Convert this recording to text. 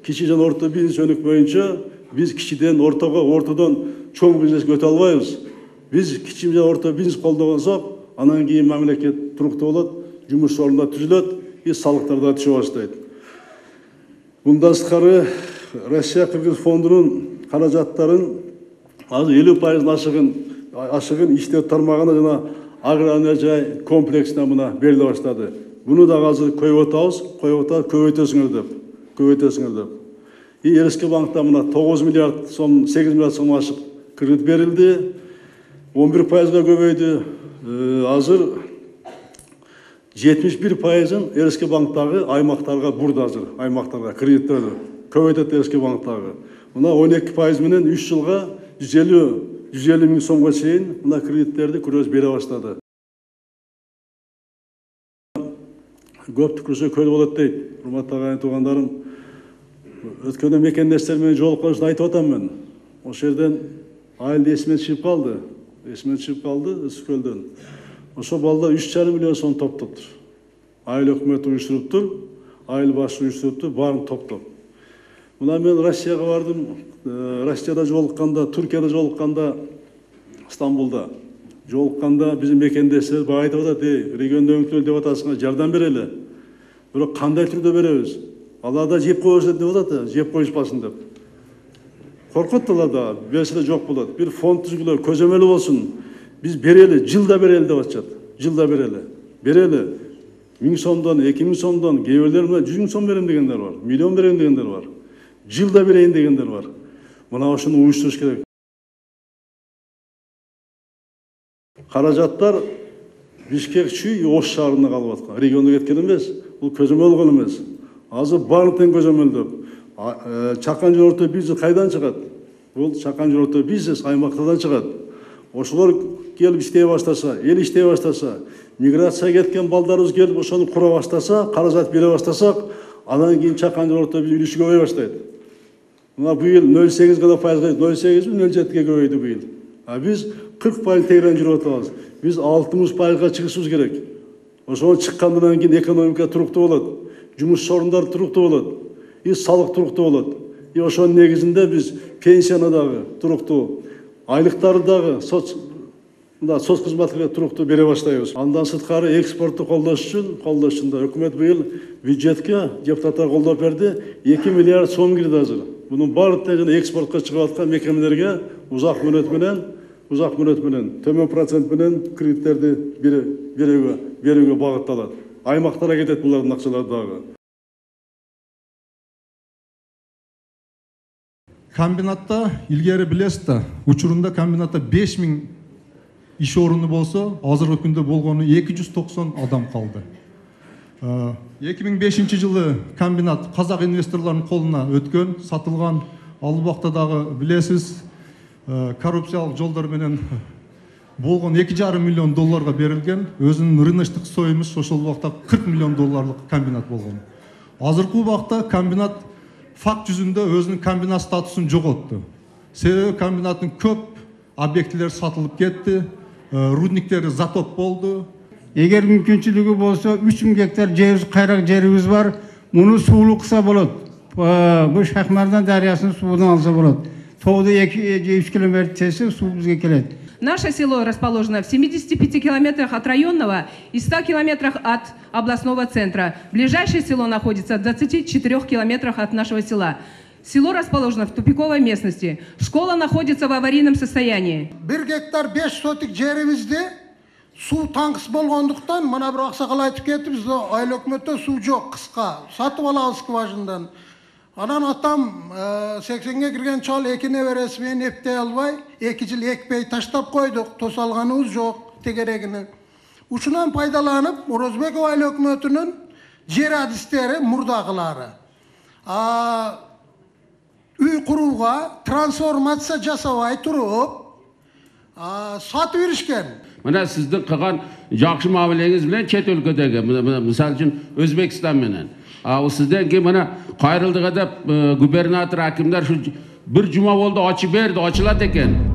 кичи жана орто бизнес өнүк боюнча биз кичиден ортого, ортодон чоң бизнеске өтө албайбыз. Биз кичи жана орто бизнес колдогонсок, анан кийин мамлекет туруктуу болот, жумуш орундар түзүлөт, салыктар да түшө баштайт. Мындан сырткары Россия-Кыргыз фондунун каражаттарын азыр 50% ашыгын иштөө тармагына жана аграрный жай комплексине мына бериле баштады. Буну да азыр коюп атабыз, көбөйтөсүңөр деп. РСК банкта мына 9 миллиард сом, 8 миллиард сом ашык кредит берилди. 11%га көбөйдү. Азыр 71%-ын РСК банктагы аймактарга бурду, азыр аймактарга кредиттерди көбөйтөт РСК банктагы. Мына 12% менен 3 жылга 150 миң сомго чейин мына кредиттерди күрөз бере баштады. Көп түкүрсө көл болот дейт. Урматтуу агайын туугандарым, өткөндө мекендештер менен жолуккан үчүн айтып атам мен. Ошол жерден айылды эсимен чыгып калды. Үскөлдөн. Ошо балдар 3,5 миллион сом топтоптур. Айыл өкмөтү уюштуруптур, айыл башы уюштуруптур, баарын топтоп. Мына мен Россияга бардым. Россияда жолукканда, Туркияда жолукканда, Стамбулда жолукканда биздин мекендештер баа айтып атат, региондо өңтүлө деп атасыңар, жардам берели. Бирок кандай түрдө беребиз? Алар да жеп коюшат деп атат, жеп коюшпасын деп. Коркот да, берсе жок болот. Бир фонд түзгүлө, көзөмөлү болсун. Биз берели, жылда берели деп атышат. Жылда берели. 1000 сомдон, 2000 сомдон, кээ бирлер 100 миң сом берем дегендер бар, миллион берем дегендер бар. Жылда берейин дегендер бар. Мына ошону уюштуруш керек. Каражаттар Бишкек чүй Ош шаарында калып аткан. Регионго кеткен эмес, бул көзөмөл эмес. Азыр баарын тең көзөмөлдөп. Чакан жана орто бизнес кайдан чыгат? Бул чакан жана орто бизнес аймактардан чыгат. Ошолор келип иштей баштаса, эл иштей баштаса, миграция кеткен балдарыбыз келип ошону кура баштаса, каражат бере баштасак, анан кийин чакан жана орто бизнес үлүшү көбөйө баштайт. Мына быйыл 0,8 гана пайызга, 0,7-0,7ге көбөйдү быйыл. Биз 40% тегерен жүрүп атабыз. Биз 60%га чыгышыбыз керек. Ошону чыккандан кийин экономика туруктуу болот, жумуш орундар туруктуу болот, салык туруктуу болот. Ошонун негизинде биз пенсияны дагы туруктуу, айлыктарды дагы соц кызматкерлерге туруктуу бере баштайбыз. Андан сырткары экспортту колдош үчүн да өкмөт быйыл бюджетке депутаттар колдоп берди, 2 миллиард сом кирди азыр. Бунун баардыгы экспортко чыгып аткан мекемелерге узак мөөнөт менен, төмөн процент менен кредиттерди берүүгө багытталат. Аймактарга кетет булардын акчалары дагы. Комбинатта илгери билесиз да, учурунда комбинатта 5000 иш орunu болсо, азыркы күндө болгону 290 адам калды. 2005 жылы комбинат казак инвесторлордун колуна өткөн, сатылган. Ал убакта дагы билесиз, коррупциялык жолдор менен болгон 2,5 миллион долларга берилген, өзүнүн рыночтук стоимость ошол убакта 40 миллион долларлык комбинат болгон. Азыркы убакта комбинат факт жүзүндө өзүнүн комбинат статусун жоготту. Себеби комбинаттын көп объектилери сатылып кетти, рудниктери затоп болду. Эгер мүмкүнчүлүгү болсо 3000 гектар жерибиз, кайрак жерибиз бар. Муну суулуу кылса болот. Бу Шахмардан дарыясынын суунан алса болот. Тоодо 2-3 километр тесе суу бизге келет. Наше село расположено в 75 километрах от районного и 100 километрах от областного центра. Ближайшее село находится в 24 километрах от нашего села. Село расположено в тупиковой местности. Школа находится в аварийном состоянии. 1 гектар 5 сотик жерибизде суу таңкыс болгондуктан, мына бир аксакал айтып кетти, бизде айыл өкмөттө суу жок, кыска. Сатып алабыз скважинадан. Анан атам 80ге кирген чал эки небереси менен эптей албай, 2 жыл экпей таштап койдук, тосалганыбыз жок тегерегине. Ушунан пайдаланып, Орозбеков айыл өкмөтүнүн жер адистери мурдагылары үй курууга трансформация жасабай туруп сатып беришкен. Мына сиздин кылган жакшы мамилеңиз менен чет өлкөдөгү, мисалы үчүн Өзбекстан менен. Сизден кийин мына кайрылдыга деп губернатор, акимдер ушу бир жума болду ачып берди, ачылат экен.